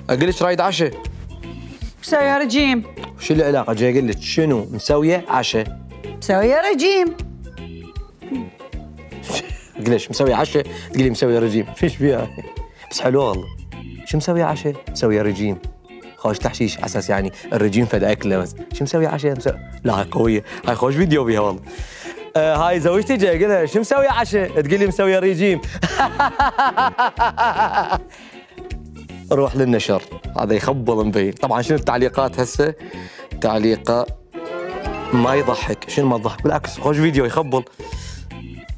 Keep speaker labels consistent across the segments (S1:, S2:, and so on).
S1: اقول لك رايد عشاء.
S2: مسوية رجيم.
S1: شو العلاقة؟ جاي اقول لك شنو مسوية عشاء؟
S2: مسوية رجيم.
S1: ليش مسوية عشاء تقولي مسوية رجيم؟ فيش فيها؟ بس حلوة والله. شو مسوية عشاء؟ مسوية رجيم. خوش تحشيش على اساس يعني الرجيم فد اكله بس. شو مسوية عشاء؟ لا هاي قوية، هاي خوش فيديو بيها والله. هاي زوجتي جاي اقول لها شو مسوية عشاء؟ تقول لي مسوية رجيم. روح للنشر، هذا يخبل مبين. طبعا شنو التعليقات هسه؟ تعليقة ما يضحك. شنو ما تضحك؟ بالعكس خوش فيديو يخبل.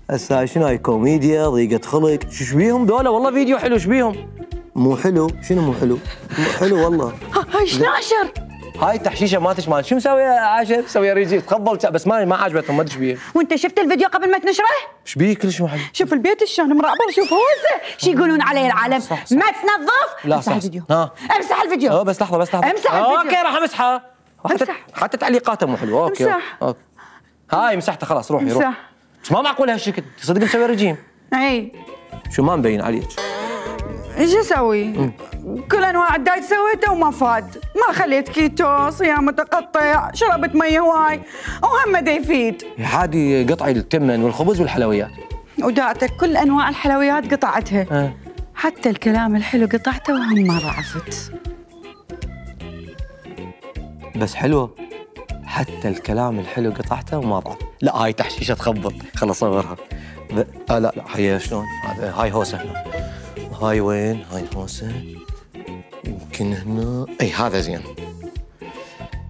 S1: هسه هاي شنو؟ هاي كوميديا، ضيقة خلق. شو بيهم ذولا؟ والله فيديو حلو. شو بيهم؟ مو حلو؟ شنو مو حلو؟ مو حلو والله.
S2: هاي شناشر.
S1: هاي تحشيشه مالتش مال. شو مسوي عشاء؟ مسوي ريجي تخبل بس ما عجبتهم. ما ادري ايش بيه.
S2: وانت شفت الفيديو قبل ما تنشره؟
S1: ايش بيه كلش مو حلو.
S2: شوف البيت شلون مرعبر. شوف هوسه شو يقولون عليه العالم. صح. ما تنظف.
S1: لا
S2: امسح
S1: صح.
S2: الفيديو.
S1: امسح
S2: الفيديو.
S1: بس لحظه بس لحظه.
S2: امسح الفيديو.
S1: اوكي راح امسحها. حتى تعليقاتها مو حلوه. اوكي
S2: امسح.
S1: هاي مسحتها خلاص. روحي
S2: امسح.
S1: روحي. بس ما معقول هالشكل. تصدق مسوي رجيم.
S2: اي
S1: شو ما مبين عليك.
S2: ايش اسوي؟ كل انواع الدايت سويته وما فاد. ما خليت كيتو، صيام متقطع، شربت مي هواي وهم دا يفيد.
S1: عادي قطعي التمن والخبز والحلويات.
S2: وداعتك كل انواع الحلويات قطعتها. حتى الكلام الحلو قطعته وهم ما ضعفت.
S1: بس حلوه. حتى الكلام الحلو قطعته وما ضعف. لا هاي تحشيشه تخبل. خل اصورها. لا هي شلون؟ هاي هوسه هنا. هاي وين؟ هاي هوسه. يمكن هنا. اي هذا زين.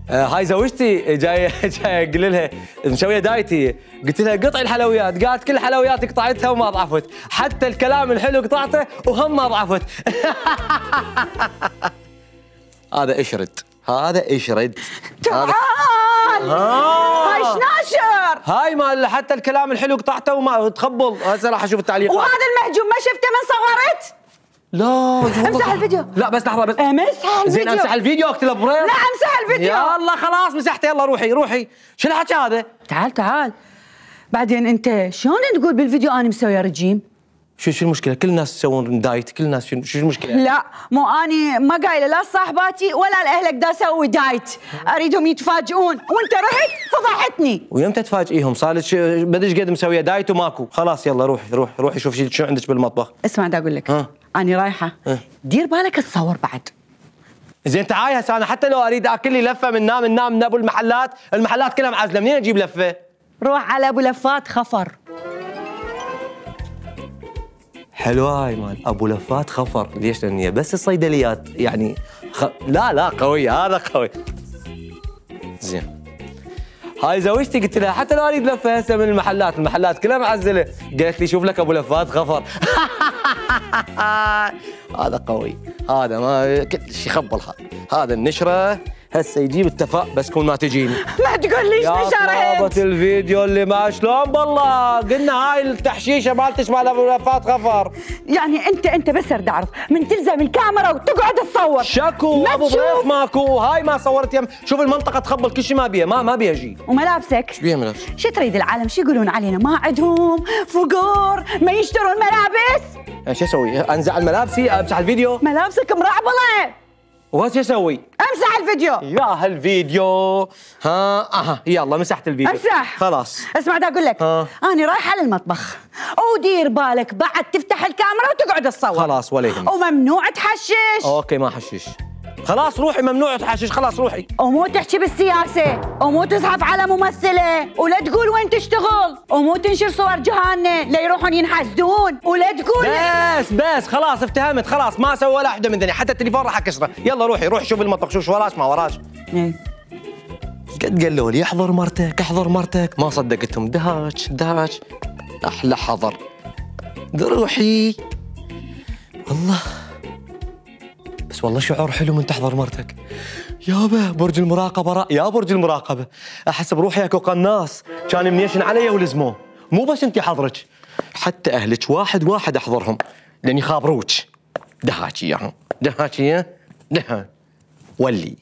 S1: هاي زوجتي جايه اقول لها مسويه دايتي. قلت لها قطعي الحلويات. قالت كل الحلويات قطعتها وما ضعفت. حتى الكلام الحلو قطعته وهم ما ضعفت. هذا اشرد. هذا اشرد.
S2: تعال. هاي شناشر.
S1: هاي مال حتى الكلام الحلو قطعته وما تخبل. هسه راح اشوف التعليقات.
S2: وهذا المهجوم ما شفته من صورت؟
S1: لا
S2: امسح الفيديو.
S1: لا بس لحظه بس.
S2: امسح الفيديو.
S1: زين امسح الفيديو اكتب بريك.
S2: لا امسح الفيديو.
S1: يلا خلاص مسحته. يلا روحي. شو الحكي هذا؟
S2: تعال. بعدين انت شلون تقول بالفيديو انا مسويه رجيم؟
S1: شو المشكله؟ كل الناس يسوون دايت. كل الناس شو المشكله؟
S2: لا مو اني ما قايله لا صاحباتي ولا لاهلك دا اسوي دايت. اريدهم يتفاجئون وانت رحت فضحتني.
S1: ويمتى تفاجئيهم؟ صار لك بدش قد مسويه دايت وماكو. خلاص يلا روحي شوفي شو عندك بالمطبخ.
S2: اسمع دا اقول لك. اني رايحه. دير بالك تصور بعد.
S1: زين تعاي هسه انا حتى لو اريد اكل لي لفه من ابو المحلات كلها معزله. منين اجيب لفه؟ روح
S2: على ابو لفات خفر.
S1: حلوه هاي مال ابو لفات خفر. ليش؟ لان هي بس الصيدليات يعني لا قوي. هذا قوي. زين هاي زوجتي قلت لها حتى لو اريد لفه هسه من المحلات كلها معزله. قالت لي شوف لك ابو لفات خفر. هذا قوي. هذا ما كل شيء يخبل. هذا النشره هسه يجيب التفاء بس كون ما تجيني.
S2: ما تقول ليش نشرت.
S1: يا طلبة الفيديو اللي ما شلون بالله. قلنا هاي التحشيشه مالتش مال ابو لفات خفر.
S2: يعني انت بس اريد اعرف من تلزم الكاميرا وتقعد تصور.
S1: شكو ابو بريخ ماكو. هاي ما صورت يم. شوف المنطقه تخبل كل شيء ما بيها. ما بيها شيء.
S2: وملابسك
S1: ايش بيها ملابس؟
S2: شو تريد العالم شو يقولون علينا؟ ما عندهم فقور ما يشترون ملابس.
S1: يعني شو اسوي؟ انزع ملابسي امسح الفيديو؟
S2: ملابسك مرعبله.
S1: وش اسوي؟
S2: امسح الفيديو.
S1: يا هالفيديو. يلا مسحت الفيديو.
S2: امسح
S1: خلاص.
S2: اسمع دا اقول لك. انا رايحه للمطبخ ودير بالك بعد تفتح الكاميرا وتقعد تصور.
S1: خلاص ولا يهمك.
S2: وممنوع تحشش.
S1: اوكي ما حشش. خلاص روحي. ممنوع تحشش. خلاص روحي.
S2: ومو تحكي بالسياسه ومو تزحف على ممثله ولا تقول وين تشتغل ومو تنشر صور جهانه لا يروحون ينحسدون ولا تقول.
S1: بس خلاص افتهمت. خلاص ما اسوي ولا وحده من ذني. حتى التليفون راح اكسره. يلا روحي شوف المطبخ. شوف وراش ما وراش. قد قالوا لي احضر مرتك ما صدقتهم. دهاش احلى حضر. روحي والله. بس والله شعور حلو من تحضر مرتك. يابا برج المراقبة. يا برج المراقبة احس بروحي اكو قناص كان منيشن علي ولزموه. مو بس انتي حضرك حتى اهلك واحد احضرهم لان يخابروك. دهاكي اياهم. ولي